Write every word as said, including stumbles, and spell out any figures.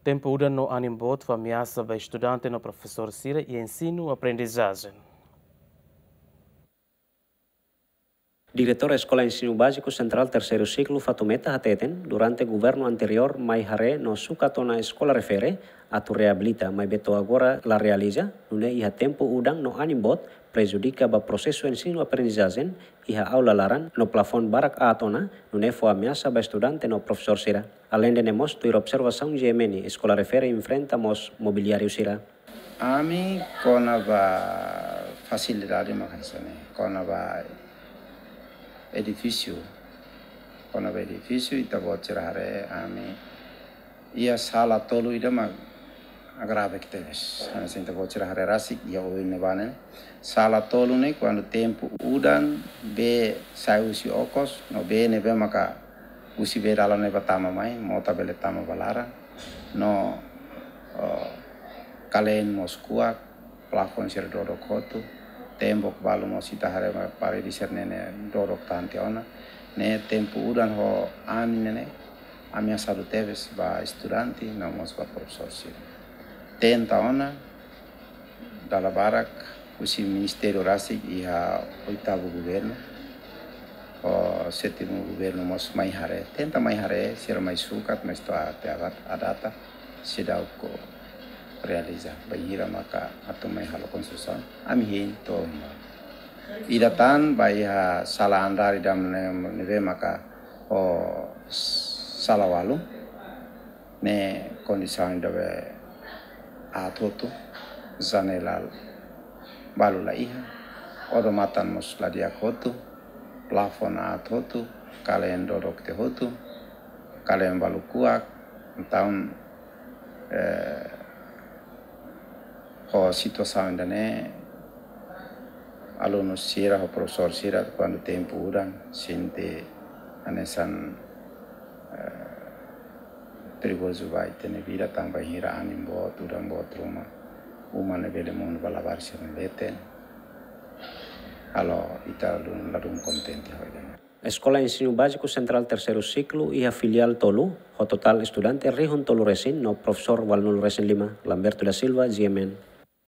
Tempu udan no anin boot fó ameasa ba estudante no profesór sira iha ensinu aprendizajen. Diretór Eskola Ensinu Báziku Sentrál Terseiru Siklu Fatumeta hateten, durante governu anteriór mai haree no sukat ona eskola refere atu reabilita, maibé to'o agora la realiza, nune'e iha tempu udan no anin boot prejudika ba prosesu ensinu aprendizajen iha aula laran no plafon barak aat ona, nune'e fó ameasa ba estudante no profesór sira. Aleinde ne'e mós tuir observasaun G M N, eskola refere enfrenta mós mobiliáriu sira. Ami kona-ba fasilidade mak hanesan ne'e, kona-ba edifísiu, kona-ba edifísiu ita-boot sira haree ami iha sala tolu ida mak grave tebes. Hanesan ita-boot sira haree rasik iha oin ne'ebá ne'e. Sala tolu ne'e kuandu tempu udan bee sai husi okos, no bee ne'ebé maka husi bee dalan ne'ebá tama mai, mota bele tama ba laran. No, oh, kaleen mós kuak, plafon sira dodok hotu, tembok balu mós ita haree mak parede sira-ne'e ne'e dodok tan tiha ona. Ne'e tempu udan ho anin ne'e ne'e ameasadu tebes ba estudante no mós ba profesór sira. Tenta ona, dala barak husi ministériu rasik iha oitavu governu, ho sétimu governu mós mai haree. Tenta mai haree, sira mai sukat, mas to'o até agora a data seidauk realiza. Bainhira maka atu mai halo konstrusaun, ami hein to'o mai. Ida tan ba iha sala andár ida ne'e, ne'ebé maka ho sala walu. Ne'e kondisaun ida be aat hotu, janela balu la iha, odamatan mós la di'ak hotu, plafon aat hotu, kaleen dodok tiha hotu, kaleen balu kuak. Entaun, eh, ho situasaun ida-ne'e, alunu sira ho profesór sira kuandu tempu udan sente hanesan, eh, perigozu ba ita-nia vida, tanba bainhira anin boot, udan boot ruma, uma ne'e bele monu ba labarik sira-nia leten. Halo ita ladún, ladún kontente ho ida-ne'e. Eskola Ensinu Báziku Sentrál Terseiru Siklu iha filiál tolu, ho totál estudante rihun tolu resin no profesór ualunulu resin lima. Lamberto da Silva, G M N.